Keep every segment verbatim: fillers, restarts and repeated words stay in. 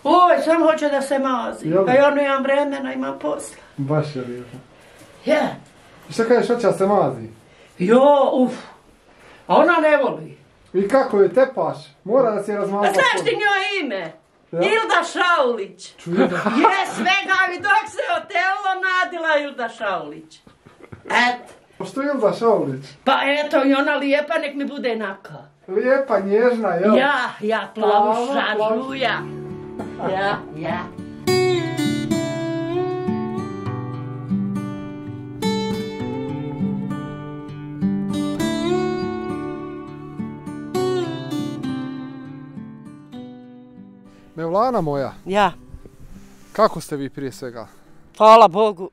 Oj, sam hoće da se mazi. Pa ja nemam vremena, imam posla. Baš je lijepo. Ja. I šta kažeš, hoće da se mazi? Jo, uf. A ona ne voli. I kako je tepaš? Mora da se razmazla. A znaš ti njoj ime? Ja? Ilda Šaulić. Čuje da? Je, svega mi dok se otelo nadila Ilda Šaulić. Eto. Što je Ilda Šaulić? Pa eto, i ona lijepa, nek mi bude naka. Lijepa, nježna, jel? Ja, ja, plavuša, žuja. Ja, ja. Mevlana moja. Ja. Kako ste vi prije svega? Hvala Bogu.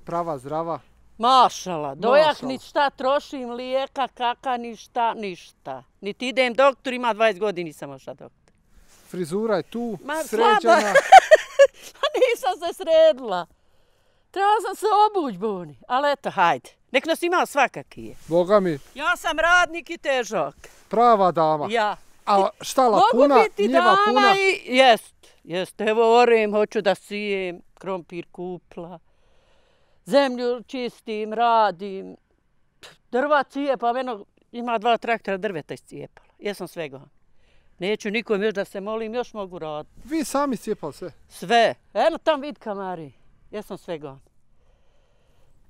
Prava, zdrava? Mašala, dojak ni šta trošim, lijeka, kaka, ništa, ništa. Niti idem doktor, ima dvadeset godina, nisam ošla doktor. Frizura je tu, Ma, sređena. Nisam se sredila. Trebala sam se obuć, Boni. Ali eto, hajde. Nek nas ima svakaki je. Boga mi. Ja sam radnik i težak. Prava dama. Ja. A štala puna, Mogu biti njiva dama puna. I... Jest, jest. Evo orem, hoću da sijem, krompir kupla. Zemlju čistim, radim. Drva cijepa, meno ima dva traktora drveta iscijepala. Jesam svega. Neću nikom još da se molim, još mogu raditi. Vi sami cijepali sve? Sve. Eno tam vid kamari. Jesam svega.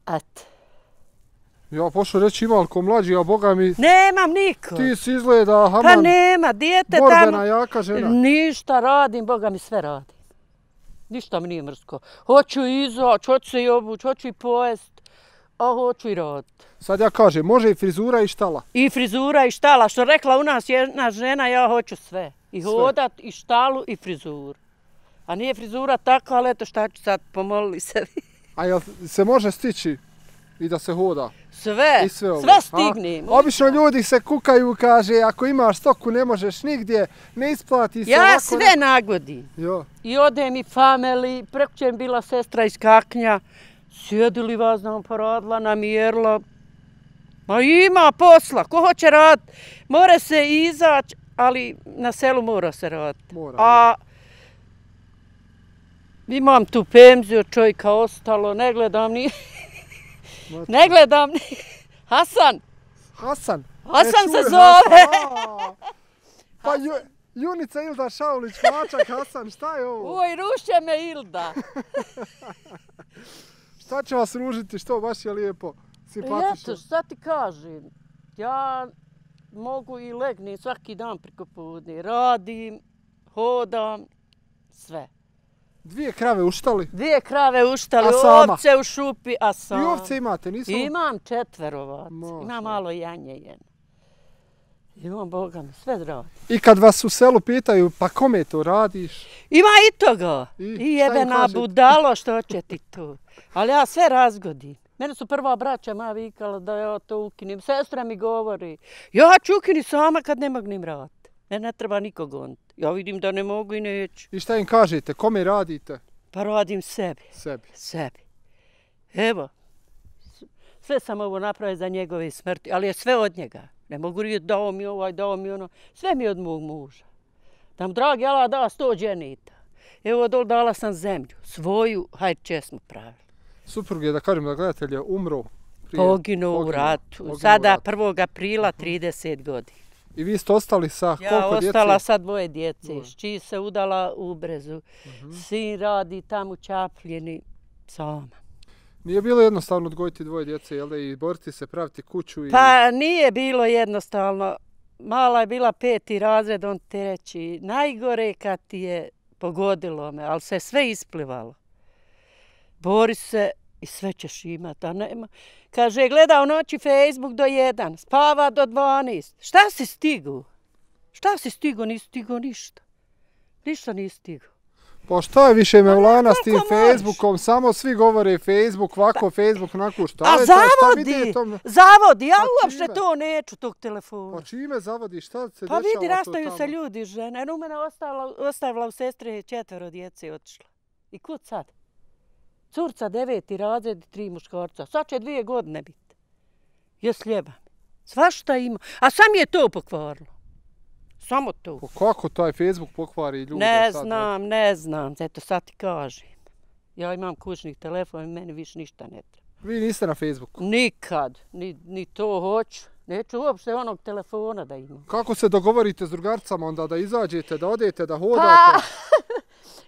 Eto. Ja pošao reći ima ko mlađi, a Boga mi... Nemam niko. Ti si izgleda, haman, pa nema, dijete borbena, tamo. jaka žena. Ništa radim, Boga mi sve radim. Ništa mi nije mrsko. Hoću izaći, hoću se i obući, hoću i pojest, a hoću i raditi. Sad ja kažem, može i frizura i štala. I frizura i štala. Što rekla u nas jedna žena, ja hoću sve. I sve. Hodat, i štalu, i frizuru. A nije frizura tako, ali eto šta ću sad, pomolili se vi. A jel se može stići i da se hoda? Sve, I sve, sve stignem. Obično ljudi se kukaju, kaže, ako imaš stoku ne možeš nigdje, ne isplati se. Ja ovako, sve ne... nagodim. Jo. I odem i family, preko mi bila sestra iz Kaknja, sjedili vas nam poradila, namjerila. Ma ima posla, ko hoće raditi, mora se izaći, ali na selu mora se raditi. Mora. A imam tu penziju čovjeka ostalo, ne gledam ni... ne gledam ni... Hasan! Hasan! Hasan e, se čuje, zove! Hasan, pa ju, Junica Ilda Šaulić, Mačak Hasan, šta je ovo? Oj, ruše me Ilda! Šta će vas ružiti, što baš je lijepo, simpatično? Eto, šta ti kažem, ja mogu i legnem svaki dan preko podne, radim, hodam, sve. Dvije krave uštali? Dvije krave uštali, ovce u šupi, a sam. I ovce imate, nisu? Imam četverovac, imam malo janje jedno. Imam, Boga mi, sve drago. I kad vas u selu pitaju, pa kome to radiš? Ima i toga. I, I jebena budalo, što će ti tu. Ali ja sve razgodim. Mene su prva braća moja vikala da ja to ukinim. Sestra mi govori, ja ću ukini sama kad ne mognim raditi. Ne, ne treba nikog goniti. Ja vidim da ne mogu i neću. I šta im kažete, kome radite? Pa radim sebi. Sebi. Sebi. Evo, sve sam ovo napravio za njegove smrti, ali je sve od njega. Ne mogu reći dao mi ovaj, dao mi ono. Sve mi od mog muža. Da mu dragi Allah da sto dženita. Evo dol dala sam zemlju. Svoju, hajde česmu pravili. Suprug je, da kažem da gledatelje, umro. Prije, poginuo u ratu. Poginuo Sada rat. prvog aprila trideset godina. I vi ste ostali sa ja koliko djece? Ja ostala sa dvoje djece. Šči se udala u Brezu. Uh-huh. Sin radi tamo u Čapljini sama. Nije bilo jednostavno odgojiti dvoje djece, jel da, i boriti se, praviti kuću? I... Pa nije bilo jednostavno. Mala je bila peti razred, on te reći, najgore kad ti je pogodilo me, ali se sve isplivalo. Bori se i sve ćeš imati, a nema. Kaže, gleda u noći Facebook do jedan, spava do dvanaest. Šta si stigu? Šta si stigu? Nisi stigu ništa. Ništa nisi stigu. Pa šta je više Mevlana s tim Facebookom? Samo svi govore Facebook, ovako Facebook, onako šta. A zavodi, zavodi, ja uopšte to neću, tog telefona. Pa čime zavodi, šta se dešava to tamo? Pa vidi, tamo? rastaju se ljudi, žene. Eno, mene ostavila, ostavila u sestre četvero djece i otišla. I kud sad? Curca deveti razred i tri muškarca. Sad će dvije godine biti. Je sljeba. Svašta ima. A sam je to pokvarilo. samo to. Kako taj Facebook pokvari ljude? Ne sad, znam, ne znam, eto sad ti kažem. Ja imam kućni telefon i meni više ništa ne treba. Vi niste na Facebooku? Nikad, ni, ni to hoću. Neću uopšte onog telefona da imam. Kako se dogovorite s drugarcama onda da izađete, da odete, da hodate? Pa,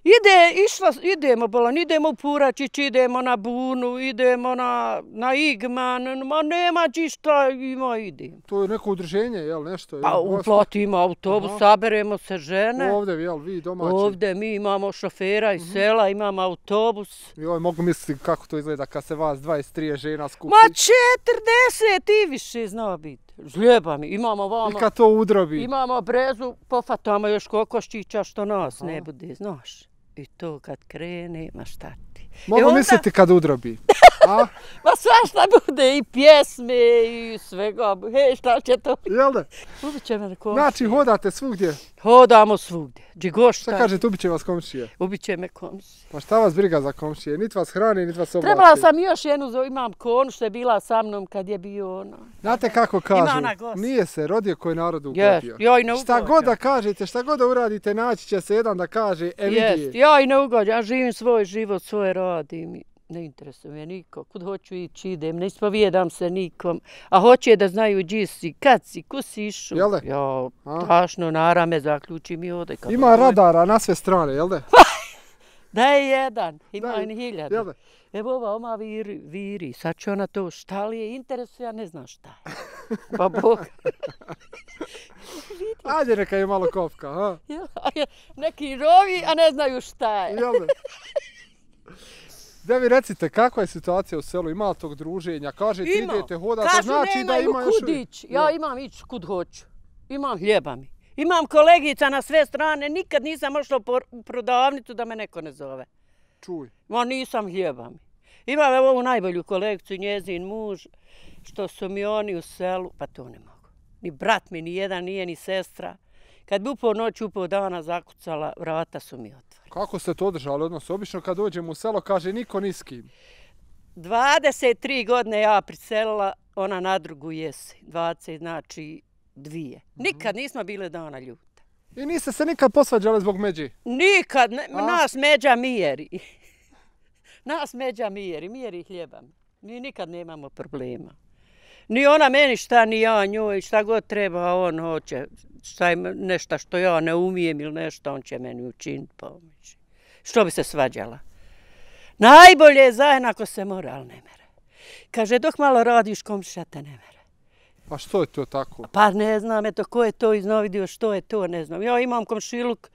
ide, išla, idemo, bolan, idemo u Puračić, idemo na Bunu, idemo na, na Igman, ma nema ti šta, ima, idemo. To je neko udruženje, jel, nešto? Pa u Ploti ima autobus, aha, saberemo se žene. Ovdje, jel, vi domaći? Ovdje mi imamo šofera iz sela, imamo autobus. Joj, mogu misliti kako to izgleda kad se vas dvadeset tri žena skupi. Ma četrdeset i više zna biti. Žljeba mi, imamo vamo. I kad to udrobi. Imamo brezu, pofatamo još kokoščića što nas ne bude, znaš. I to kad krene, ma šta ti. Mogu onda misliti kad udrobi. A? Ma svašta bude, i pjesme, i svega. Hej, šta će to? Jel da? Ubit će me komšije. Znači, hodate svugdje? Hodamo svugdje. Džigošta. Šta kažete, ubit će vas komšije? Ubit će me komšije. Pa šta vas briga za komšije? Niti vas hrani, niti vas oblači. Trebala sam još jednu, imam konu što je bila sa mnom kad je bio ono. Znate kako kažu? Nije se rodio koji narod ugodio. Ja i ne ugođam. Šta god da kažete, šta god da uradite, naći će se jedan da kaže, e vidi. Jest, ja i ne ugođam. Ja živim svoj život, svoje radim. Ne interesuje me niko. Kud hoću ići, idem. Ne ispovijedam se nikom. A hoće da znaju gdje si, kad si, ko si išao. Jel da? Ja, tašno, narame, zaključi mi ovdje. Ima radara na sve strane, jel da? Da je jedan, ima i hiljada. Jel da? Evo ova, oma viri, viri, sad će ona to, šta li je interesuje, ja ne znam šta je. Pa Bog. Ajde, neka je malo kopka, ha? Neki rovi, a ne znaju šta je. Jel da? Da vi recite, kakva je situacija u selu, ima li tog druženja, kažete ima. Idete, hodate, kažu, znači da ima još kud ići. Ja imam ići kud hoću, imam hljeba mi. Imam kolegica na sve strane, nikad nisam ošla u prodavnicu da me neko ne zove. Čuj. Ma nisam hljeba mi. Imam evo ovu najbolju kolegicu, njezin muž, što su mi oni u selu, pa to ne mogu. Ni brat mi, ni jedan nije, ni sestra. Kad bi upao noć, upao dana zakucala, vrata su mi otvorili. Kako ste to održali odnos? Obično kad dođem u selo kaže niko ni s kim. dvadeset tri godine ja priselila, ona na drugu jesi. dvadeset znači dvije. Nikad nismo bile dana ljute. I niste se nikad posvađali zbog međi? Nikad, ne, nas međa mijeri. Nas međa mijeri, mijeri hljeba. Mi nikad nemamo problema. Ni ona meni šta, ni ja njoj, šta god treba, on hoće. Šta je nešto što ja ne umijem ili nešto, on će meni učiniti pomoći. Što bi se svađala? Najbolje je zajedno ako se mora, ali ne mere. Kaže, dok malo radiš, komšija te ne mere. Pa što je to tako? Pa ne znam, eto, ko je to iznovidio, što je to, ne znam. Ja imam komšiluk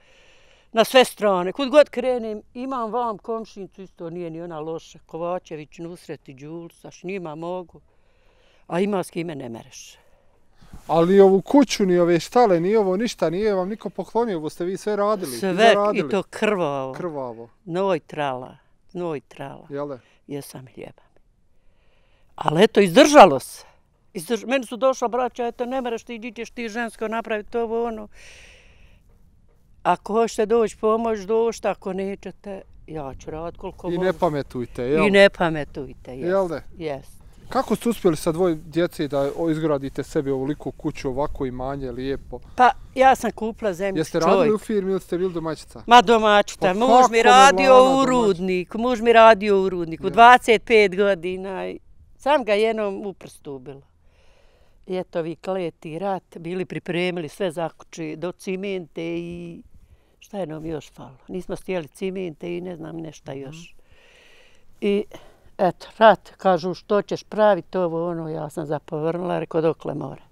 na sve strane. Kud god krenem, imam vam komšinicu, isto nije ni ona loša. Kovačević, Nusret i Đulsa, s njima mogu. A ima s kime ne mereš. Ali ovu kuću, ni ove štale, ni ovo ništa, nije vam niko poklonio, ovo ste vi sve radili. Sve, i to krvavo. Krvavo. Noj trala, noj trala. Jel da? Jesam hljeba. Ali eto, izdržalo se. Izdrž... Meni su došla braća, eto, ne mereš ti, iđeš ti žensko napraviti ovo, ono. Ako hoćete doći pomoć, došta, ako nećete, ja ću raditi koliko I ne pametujte, jel? I ne pametujte, jes. Jel da? Jes. Kako ste uspjeli sa dvoje djece da izgradite sebi ovoliku kuću, ovako imanje, lijepo? Pa, ja sam kupila zemlju Jeste radili u firmi ili ste bili domaćica? Ma domaćica. Pa muž mi radio u rudniku, muž mi radio u rudniku, dvadeset pet godina. Sam ga jednom u prstu ubila. I eto vi kleti rat, bili pripremili sve zakući do cimente i šta je nam još falo. Nismo stijeli cimente i ne znam nešta još. I eto, rat, kažu što ćeš praviti ovo, ono, ja sam zapovrnula, rekao dokle more.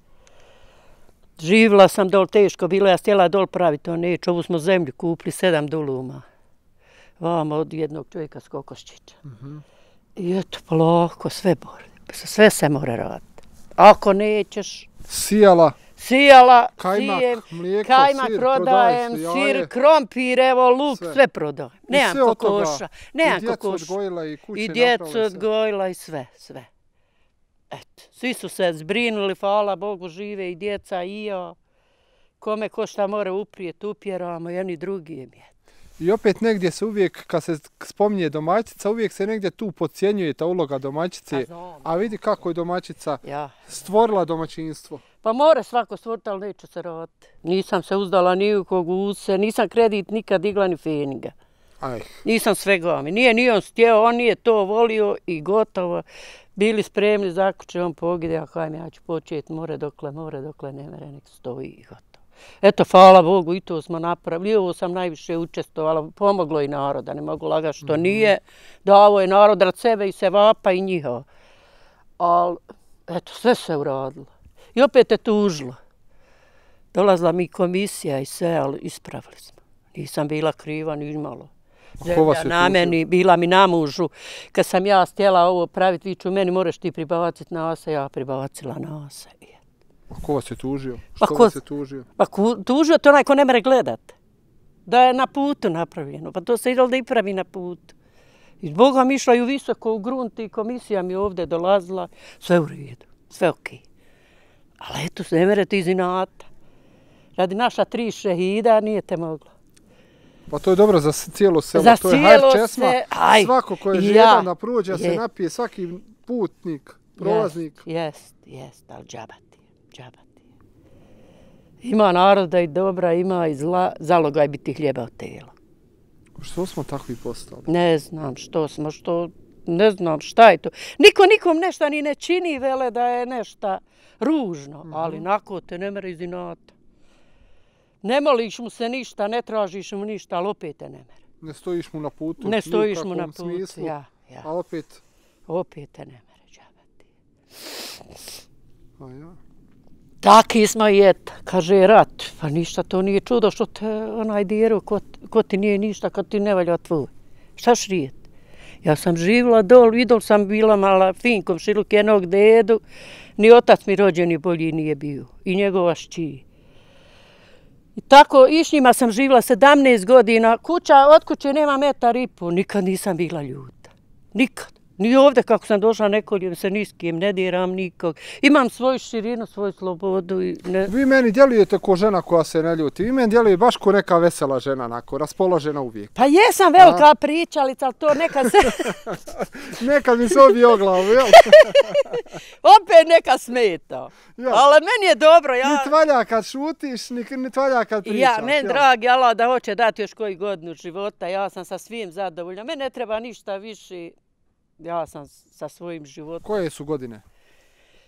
Živila sam dol, teško bilo, ja stjela dol praviti, to neću, ovu smo zemlju kupili, sedam duluma. Vamo od jednog čovjeka s kokoščića. I eto, polako, sve bore, sve se mora raditi. Ako nećeš... Sijala. Sijala, kajmak, sijem, mlijeko, kajmak sir, prodajem, sir, krompir, evo, luk, sve, sve prodajem. Nemam kokoša, nemam kokoša. I djecu odgojila i kuće I djecu odgojila i sve, sve. Eto, svi su se zbrinuli, hvala Bogu, žive i djeca i ja. Kome ko šta mora uprijeti, upjeramo, jedni drugi je mjet. I opet negdje se uvijek, kad se spominje domaćica, uvijek se negdje tu podcjenjuje ta uloga domaćice. A vidi kako je domaćica ja. stvorila domaćinstvo. Pa more svako stvoriti, ali neće se roditi. Nisam se uzdala ni u kog use, nisam kredit nikad digla ni feniga. Aj. Nisam svega mi. Nije ni on stjeo, on nije to volio i gotovo. Bili spremni, zakuće, on pogide, a hajme, ja ću početi, more dokle, more dokle, ne mere, nek stoji i gotovo. Eto, hvala Bogu, i to smo napravili. I ovo sam najviše učestvovala, pomoglo i naroda, ne mogu lagati što mm-hmm. nije. Davo je narod rad sebe i se vapa i njihova. Ali, eto, sve se uradilo. I opet je tužilo. Dolazila mi komisija i sve, ali ispravili smo. Nisam bila kriva, ni malo. Zemlja na meni, bila mi na mužu. Kad sam ja htjela ovo praviti, viču, meni moraš ti pribaciti nasa, ja pribacila nasa. A ko vas je tužio? Što pa ko, vas je tužio? Pa ko, tužio to onaj ko ne mere gledat. Da je na putu napravljeno. Pa to se idelo da i pravi na putu. I Boga mi išla ju visoko u grunt i komisija mi ovdje dolazila. Sve u redu, sve okej. Okay. Ali eto, ne merete iz inata. Radi naša tri šehida nije te mogla. Pa to je dobro za cijelo selo. Za to je hajr česma. Se, aj, svako ko je ja, žedan da prođe, je. se napije, svaki putnik, prolaznik. Jest, jest, ali džabati, džabati. Ima naroda i dobra, ima i zla, zalogaj biti hljeba od tela. Što smo takvi postali? Ne znam što smo, što, ne znam šta je to. Niko nikom nešto ni ne čini, vele da je nešto ružno, mm-hmm. ali nako te ne mere iz inata. Ne moliš mu se ništa, ne tražiš mu ništa, ali opet te ne mere. Ne stojiš mu na putu. Ne stojiš mu na putu, smislu, ja, ja. A opet? Opet te ne mere, džabati. A ja. Taki smo i et, kaže rat. Pa ništa to nije čudo što te onaj djeru, ko, ko ti nije ništa kad ti ne valja tvoj. Šta šrijet? Ja sam živjela dol, vidol sam bila mala finkom šiluk jednog dedu. Ni otac mi rođeni bolji nije bio. I njegova šći. I tako, i s njima sam živjela sedamnaest godina. Kuća, od kuće nema metar i po. Nikad nisam bila ljuta. Nikad. Ni ovdje kako sam došla nekoljem se ni s kim, ne diram nikog. Imam svoju širinu, svoju slobodu. I ne... Vi meni djelujete ko žena koja se ne ljuti. Vi meni djeluje baš ko neka vesela žena, onako, raspoložena uvijek. Pa jesam velika A? pričalica, ali to neka se... Nekad mi se obi o glavu, jel? Opet neka smeta. Ja. Ali meni je dobro. Ja... Ni tvalja kad šutiš, ni, ni tvalja kad pričaš. Ja, meni dragi Allah da hoće dati još koji godinu života. Ja sam sa svim zadovoljna. Meni ne treba ništa više. Ja sam sa svojim životom. Koje su godine?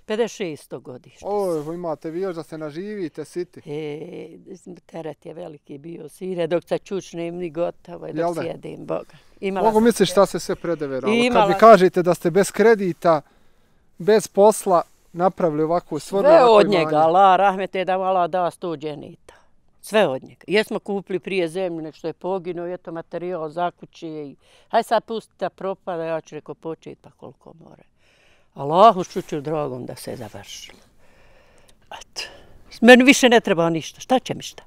pedeset šesto godište. O, imate vi još da se naživite, siti. E, teret je veliki bio, sire, dok se čučnem ni gotovo, dok sjedim, Boga. Imala Mogu misliš šta se sve predeveralo? Imala... Kad mi kažete da ste bez kredita, bez posla, napravili ovakvu stvornu sve od njega, Allah, rahmete da Allah da sto dženita. Sve od njega. Jesmo kupili prije zemlju, nek što je poginuo, eto materijal za kuće i haj sad pustite da propada, ja ću reko početi pa koliko more. Allahu šuću dragom da se završilo. Eto. Meni više ne treba ništa. Šta će mi šta?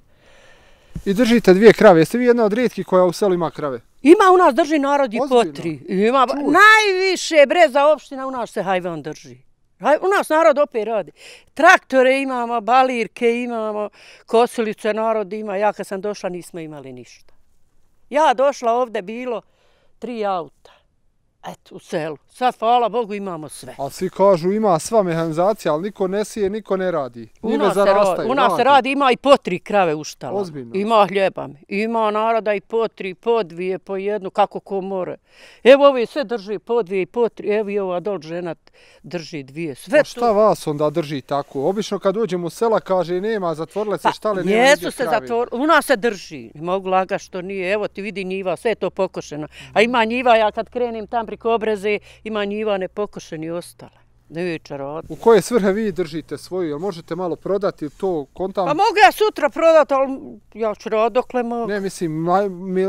I držite dvije krave. Jeste vi jedna od rijetkih koja u selu ima krave? Ima u nas drži narod i po tri. Ima Čuj. najviše breza opština u nas se hajvan drži. U nas narod opet radi. Traktore imamo, balirke imamo, kosilice narod ima. Ja kad sam došla nismo imali ništa. Ja došla ovdje bilo tri auta. Eto, u selu. Sad, hvala Bogu, imamo sve. A svi kažu ima sva mehanizacija, ali niko ne sije, niko ne radi. U nas, se radi, u nas se radi, ima i po tri krave u štala. Ozbiljno. Ima hljeba. Ima naroda i po tri, po dvije, po jednu, kako ko more. Evo ovi sve drži po dvije i po tri. Evo i ova dol žena drži dvije. Sve a šta to... vas onda drži tako? Obično kad uđemo u sela kaže nema, zatvorile se štale, nema nigdje krave. Jesu se zatvorile, u nas se drži. Ne mogu laga što nije. Evo ti vidi njiva, sve je to pokošeno. A ima njiva, ja kad krenim tam priko Obreze, ima njiva nepokošeni ostale. Neće raditi. U koje svrhe vi držite svoju? Jel možete malo prodati to kontam? Pa mogu ja sutra prodati, ali ja ću raditi dokle mogu. Ne, mislim,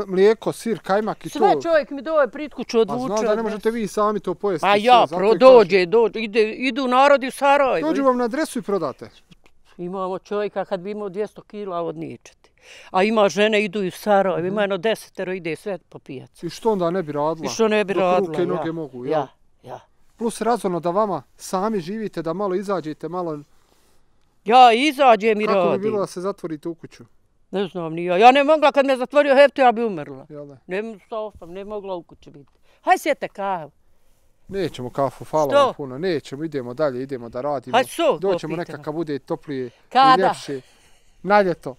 mlijeko, sir, kajmak i sve to. Sve čovjek mi doje pritkuću odvuče. Pa znam da ne možete vi sami to pojesti. Pa ja, pro, dođe, dođe, ide, idu narodi u Sarajevo. Dođu vam na adresu i prodate? Imamo čovjeka kad bi imao dvjesto kila od ničeti. A ima žene idu i u Sarajevo, ima jedno desetero ide sve po pijacu. I što onda ne bi radila? I što ne bi radila, ruke i noge ja. mogu, ja, ja. Plus razorno da vama sami živite, da malo izađete, malo... Ja izađem i radim. Kako bi bilo da se zatvorite u kuću? Ne znam ni ja. Ja ne mogla kad me zatvorio hefto, ja bi umrla. Jel ne? Ne stofam, ne mogla u kući biti. Haj sjete kavu. Nećemo kafu, hvala vam puno. Nećemo, idemo dalje, idemo da radimo. Hajde sok doćemo nekakav bude toplije Kada? i ljepše. Na ljeto.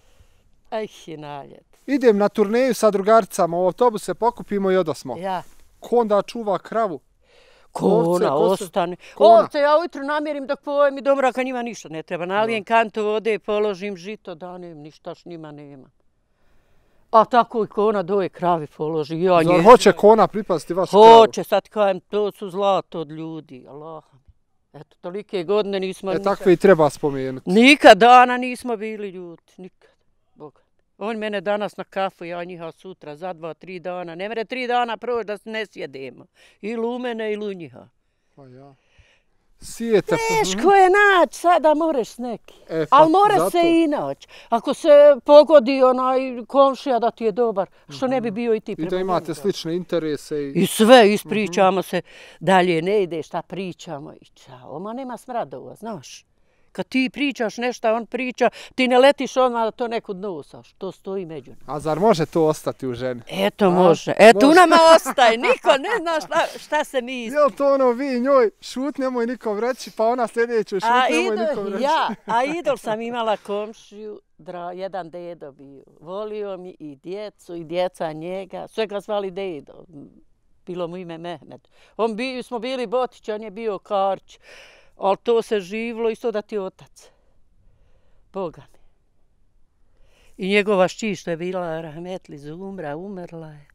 Aj, na ljeto. Idem na turneju sa drugaricama, u autobus se pokupimo i odosmo. Ja. Ko onda čuva kravu? Kona, ostane. Ovce, ja ujutru namjerim dok pojem i do mraka njima ništa ne treba. Nalijem kantu vode, položim žito, danem, ništa š njima nema. A tako i kona doje kravi položi. Ja Zar hoće kona pripasti vašu kravu? Hoće, sad kajem, to su zlato od ljudi. Allah. Eto, tolike godine nismo... E, takve i treba spomenuti. Nikad dana nismo bili ljuti, nikad. Boga. On mene danas na kafu, ja njiha sutra, za dva, tri dana. Ne mere tri dana proći da ne sjedemo. Ili u mene, ili u njiha. Pa ja. Sijete... Teško je naći, sada moreš s neki. E, ali more se i naći. Ako se pogodi onaj komšija da ti je dobar, što ne bi bio i ti prema I da imate slične interese. I, I sve, ispričamo se. Dalje ne ide, šta pričamo. I čao, ma nema smradova, znaš. Kad ti pričaš nešto, on priča, ti ne letiš odmah da to nekud nosaš. To stoji među nama. A zar može to ostati u ženi? Eto može. Eto u nama ostaje. Niko ne zna šta, šta se mi isti. Jel to ono vi njoj šut nemoj nikom reći, pa ona sljedeću šut nemoj nikom reći? Ja, a idol sam imala komšiju, dra, jedan dedo bio. Volio mi i djecu i djeca njega. Sve ga zvali dedo. Bilo mu ime Mehmed. On bi, smo bili Botić, on je bio Karć. Ali to se živlo isto da ti otac. Boga mi. I njegova šći što je bila rahmetli Zumra, umrla je.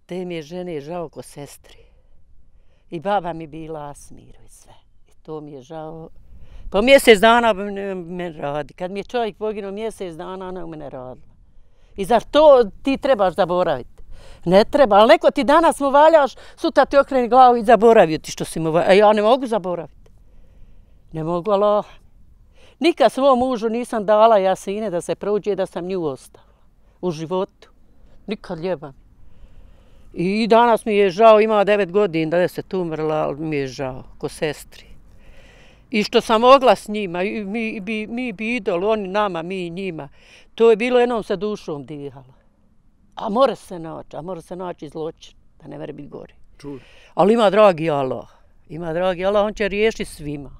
Te mi je žene žao ko sestri. I baba mi bila Asmiru i sve. I to mi je žao. Po mjesec dana me radi. Kad mi je čovjek poginuo mjesec dana, ona u mene radila. I zar to ti trebaš zaboraviti? Ne treba, ali neko ti danas mu valjaš, sutra ti okreni glavu i zaboravio ti što si mu valjaš. A ja ne mogu zaboraviti. Ne mogu, Allah. Nikad svom mužu nisam dala jasine da se prođe da sam nju ostavila. U životu. Nikad ljeba. I danas mi je žao, ima devet godina da je se tu umrla, ali mi je žao, ko sestri. I što sam mogla s njima, mi bi, mi bi idol, oni nama, mi njima. To je bilo jednom sa dušom dihalo. A mora se naći, a mora se naći zločin, da ne mere biti gori. Čuj. Ali ima dragi Allah. Ima dragi Allah, on će riješiti svima.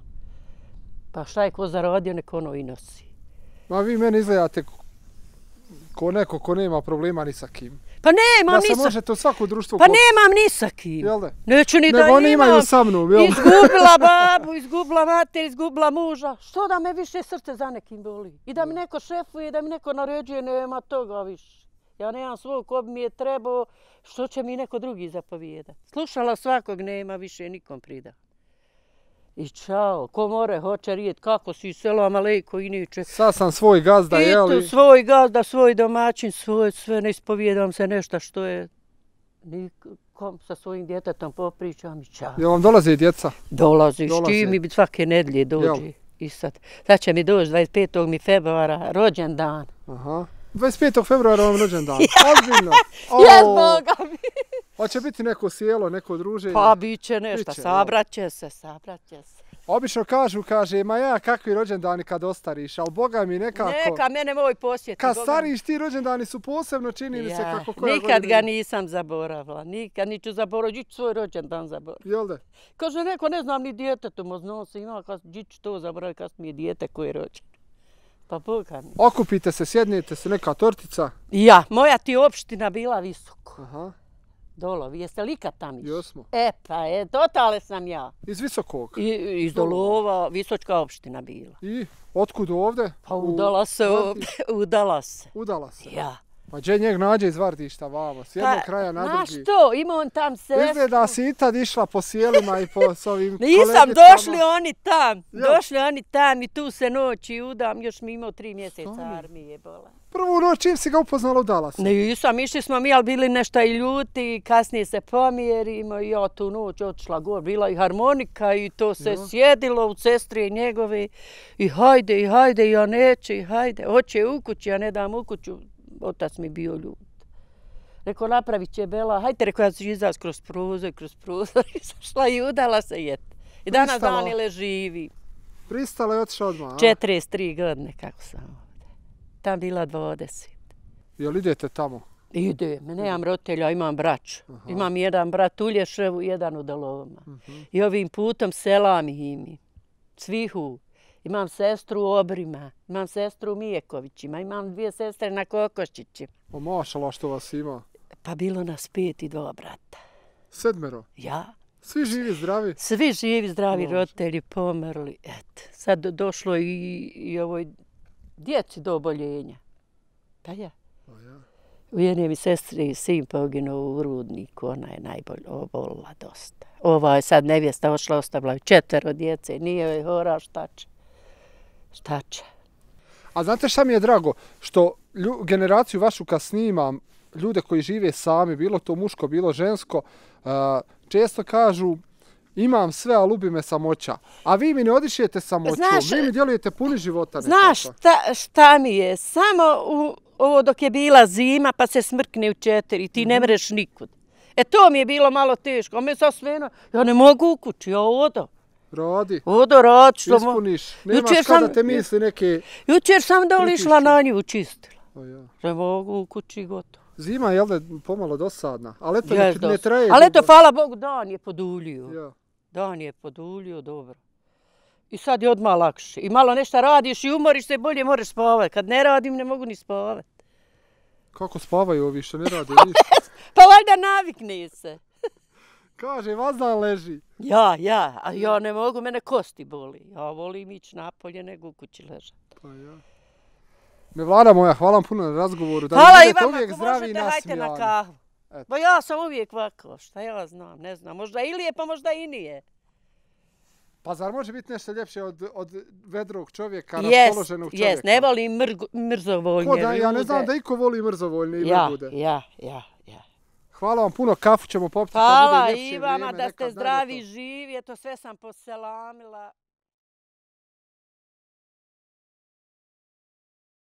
Pa šta je ko zaradio, neko ono i nosi. Ma vi meni izgledate ko neko ko nema problema ni sa kim. Pa nemam ni sa... Da se možete u svako društvo... Pa nemam ni sa kim. Jel da? Neću ni da imam. Nego oni imaju sa mnom, jel? Izgubila babu, izgubila mater, izgubila muža. Što da me više srce za nekim boli? I da mi neko šefuje, da mi neko naređuje, nema toga više. Ja nemam svog ko bi mi je trebao, što će mi neko drugi zapovijedati. Slušala svakog, nema više nikom prida. I čao, ko more, hoće rijet, kako si, selam alejko i niče. Sad sam svoj gazda, jeli? I tu svoj gazda, svoj domaćin, svoj, sve ne ispovijedam se nešto što je nikom sa svojim djetetom popričam i čao. Jel vam dolaze djeca? Dolazi, s čim mi svake nedlje dođe. I sad, sad će mi doći dvadeset petog februara, rođendan. Aha. dvadeset petog februara vam rođendan. Ozbiljno. Jes, Boga mi. Hoće biti neko sjelo, neko druženje? Pa bit će nešto, sabraće se, sabraće se. Obično kažu, kaže, ma ja, kakvi rođendani kad ostariš, ali Boga mi nekako... Neka, mene moj posjeti. Kad stariš, ti rođendani su posebno, čini mi se kako koja godina. Nikad ga nisam zaboravila, nikad niću zaboraviti, ću svoj rođendan zaboraviti. Jel da? Kaže, neko, ne znam ni djetetom, znam se ima, kad ću to zaboraviti, kad mi je dijete koje je rođeno. Pa Boga mi. Okupite se, sjednete se, neka tortica. Ja, moja ti opština bila visoko. Aha. Dolovi, jeste li ikad tam išli? Jesmo. E pa, je, totale sam ja. Iz Visokog? I, iz Dolova, Visočka opština bila. I otkud ovde? Pa udala se ovdje, udala se. Udala se? Ja. Pa gdje njeg nađe iz Vardišta vamo, s jednog pa, kraja na drugi. Znaš to, ima on tam sestru. Izgleda si i tad išla po sjelima i po s ovim Nisam, došli oni tam, ja. došli oni tam i tu se noći udam, još mi imao tri mjeseca Stani. armije bola. Prvu noć čim si ga upoznala, udala se? Nisam, išli smo mi, ali bili nešto i ljuti, kasnije se pomjerimo i ja tu noć otišla gore, bila i harmonika i to se ja. sjedilo u sestri njegove i hajde, i hajde, ja neće, i hajde, hoće u kući, ja ne dam u kuću. Otac mi bio ljud. Rekao, napravit će Bela, hajte, rekao, ja ću izlaz kroz prozor, kroz prozor, i zašla i udala se jet. I danas Danile živi. Pristala je otišla odmah, a? četrdeset tri godine, kako sam ovdje. Tam bila dvadeset. Jel idete tamo? Ide, nemam roditelja, imam braću. Aha. Imam jedan brat u Lješevu, jedan u Dalovama. Uh-huh. I ovim putom selam im. Svihu. Imam sestru u Obrima, imam sestru u Mijekovićima, imam dvije sestre na Kokoščićima. O, mašala što vas ima. Pa bilo nas pet i dva brata. Sedmero? Ja. Svi živi, zdravi? Svi živi, zdravi, Maša. Roditelji pomrli. Eto, sad došlo i, i ovoj djeci do oboljenja. Pa ja. O, ja. U jedne mi sestri sin poginuo u Rudniku, ona je najbolje obolila dosta. Ova je sad nevjesta ošla, ostavila četvero djece, nije joj hora, šta će. Šta će. A znate šta mi je drago? Što lju, generaciju vašu kad snimam, ljude koji žive sami, bilo to muško, bilo žensko, uh, često kažu imam sve, ali ubi me samoća. A vi mi ne odišijete samoćom, znaš, vi mi djelujete puni života. Znaš šta, šta mi je? Samo u, ovo dok je bila zima pa se smrkne u četiri, ti mm-hmm. ne mreš nikud. E to mi je bilo malo teško, a me sa sveno, ja ne mogu u kući, ja odo. Radi. Odo radi što... Ispuniš. Nemaš kada te misli neke... Jučer sam doli išla na nju čistila. O, ja. Ne mogu u kući gotovo. Zima je da pomalo dosadna, ali eto yes, ne, ne traje... Ali eto, hvala Bogu, dan je poduljio. Ja. Dan je poduljio, dobro. I sad je odmah lakše. I malo nešto radiš i umoriš se, bolje moraš spavati. Kad ne radim, ne mogu ni spavati. Kako spavaju ovi što ne rade ništa? Pa valjda navikne se. Kaže, vazdan leži. Ja, ja, a ja ne mogu, mene kosti boli. Ja volim ići napolje nego u kući ležati. Pa ja. Mevlana moja, hvala vam puno na razgovoru. Da hvala i vama, ako možete, hajte na kahu. Ba ja sam uvijek ovako, šta ja znam, ne znam. Možda ili je, pa možda i nije. Pa zar može biti nešto ljepše od, od vedrog čovjeka, yes, raspoloženog čovjeka? Jes, ne volim mrgo, mrzovoljne Ko da, ja ne znam da iko voli mrzovoljne i ja, ljude. Ja, ja, ja. Hvala vam puno, kafu ćemo popiti. Hvala i vama da ste zdravi, živi, eto sve sam poselamila.